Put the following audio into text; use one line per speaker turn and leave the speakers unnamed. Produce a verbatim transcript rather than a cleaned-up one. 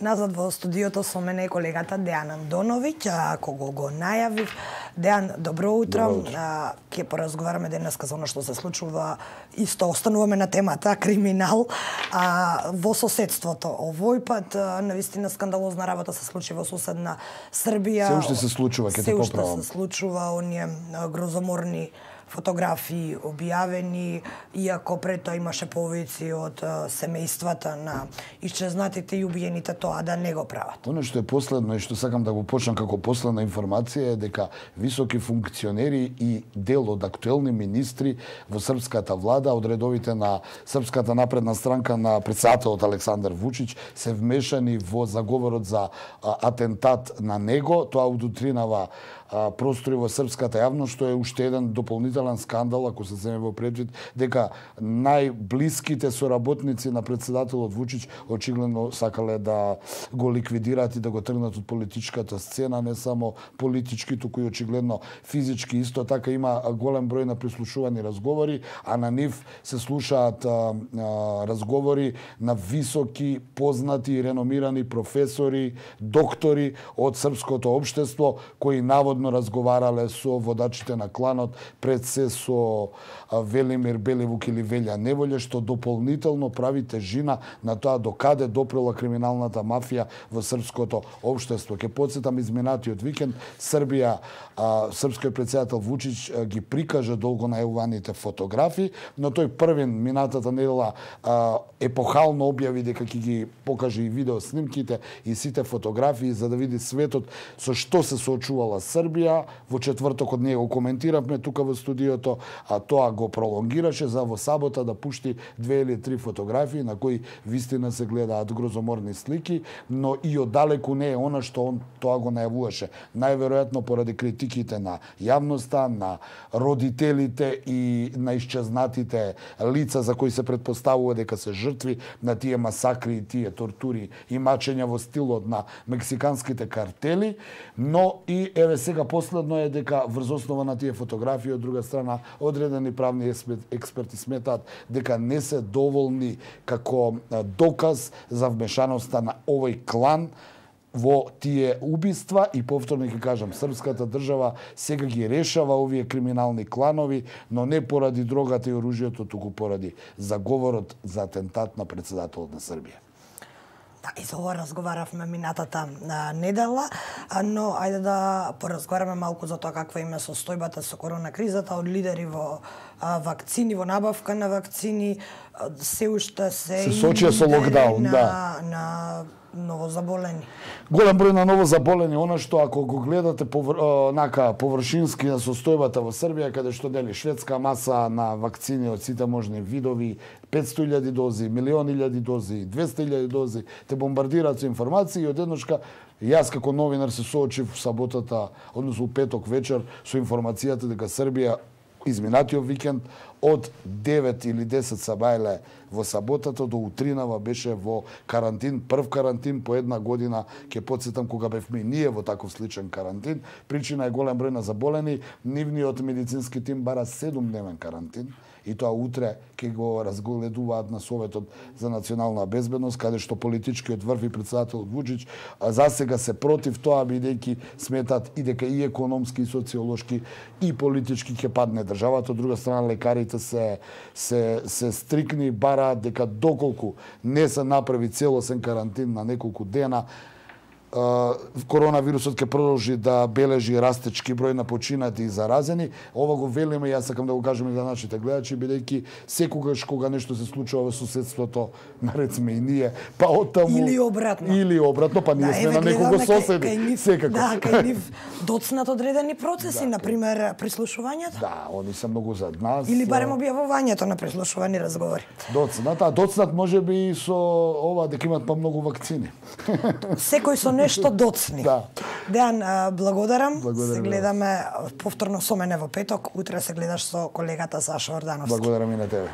Назад во студиото со мене е колегата Дејан Андоновиќ, кого го најавив. Дејан, добро утро.
Добро утро.
Ќе поразговараме денеска за оно што се случува. Исто остануваме на темата криминал а, во соседството. Овој пат навистина скандалозна работа се случи во соседна Србија.
Се уште се случува, ќе те поправам.
Се уште се случува, оние грозоморни фотографии објавени, иако пред тоа имаше повици од семејствата на исчезнатите и убиените тоа да не го прават.
Оно што е последно и што сакам да го почнам како последна информација е дека високи функционери и дел од актуелни министри во српската влада, од редовите на Српската напредна странка на претседателот Александар Вучиќ, се вмешани во заговорот за атентат на него. Тоа удутринава простори во српската јавност, што е уште еден дополнителен скандал, ако се земе во предвид, дека најблиските соработници на претседателот Вучиќ очигледно сакале да го ликвидираат и да го тргнат од политичката сцена, не само политички, туку и очигледно физички. Исто така има голем број на прислушувани разговори, а на нив се слушаат а, а, разговори на високи, познати и реномирани професори, доктори од српското општество, кои наводно разговарале со водачите на кланот, пред се со Велимир Беливук или Велја Неволја, што дополнително прави тежина на тоа до каде допрела криминалната мафија во српското општество. Ке потсетам, изминатиот викенд Србија, а, српскиот претседател Вучиќ ги прикажа долго најавуваните фотографии, но тој првин минатата недела а, епохално објави дека ќе ги покаже и видео снимките и сите фотографии за да види светот со што се соочувала Србија. Во четвртокот ние го коментиравме тука во студиото, а тоа го пролонгираше за во сабота да пушти две или три фотографии на кои вистина се гледаат грозоморни слики, но и оддалеку не е она што он тоа го најавуваше. Најверојатно поради критиките на јавноста, на родителите и на исчезнатите лица за кои се претпоставува дека се жртви на тие масакри и тие тортури и мачења во стилот на мексиканските картели, но и еве сега последно е дека врз основа на тие фотографии од друга страна одредени правни експерти сметаат дека не се доволни како доказ за вмешаноста на овој клан во тие убиства. И повторно ќе кажам, српската држава сега ги решава овие криминални кланови, но не поради дрогата и оружјето, туку поради заговорот за атентат на претседателот на Србија.
Да, и за ова разговаравме минатата недела, но ајде да поразговараме малку за тоа каква им е состојбата со корона кризата од лидери во вакцини, во набавка на вакцини. Се уште се
се сочија со локдаун,
на,
да.
на новозаболени.
Голем број на новозаболени, она што ако го гледате повр... нака површински на состојбата во Србија, каде што дели шведска маса на вакцини од сите можни видови, петсто илјади дози, милион илјади дози, двесте илјади дози, те бомбардираат со информации и одеднашка јас како новинар се соочив саботата, односно петок вечер, со информацијата дека Србија изминатиот викенд од девет или десет сабајле во саботата до утринава беше во карантин, прв карантин по една година. Ќе потсетам кога бевме ние во таков сличен карантин. Причина е голем број на заболени. Нивниот медицински тим бара седумдневен карантин и тоа утре ќе го разгледуваат на Советот за национална безбедност, каде што политичкиот врв и претседател Вучиќ за сега се против тоа, бидејќи сметат и дека и економски, и социолошки, и политички ќе падне државата. Од друга страна, лекарите се се се стрикни, бараат дека доколку не се направи целосен карантин на неколку дена, коронавирусот ќе продолжи да бележи растечки број на починати и заразени. Ова го велиме, јас сакам да го кажам и за нашите гледачи, бидејќи секогаш кога нешто се случува во соседството, наред сме и ние, па оттаму
или обратно.
Или обратно, па ние
да,
сме на некого соседи. Секако.
Да, кај нив доцнат одредени процеси,
да,
например прислушувањето.
Да, они се многу за нас.
Или барем објавувањето на прислушувани разговори.
Доцнат, а доцнат можеби и со ова дека имат па многу вакцини.
Секој со нешто доцни.
Да.
Дејан, благодарам.
Благодарам.
Се гледаме повторно со мене во петок. Утре се гледаш со колегата Саша Ордановски.
Благодарам и на тебе.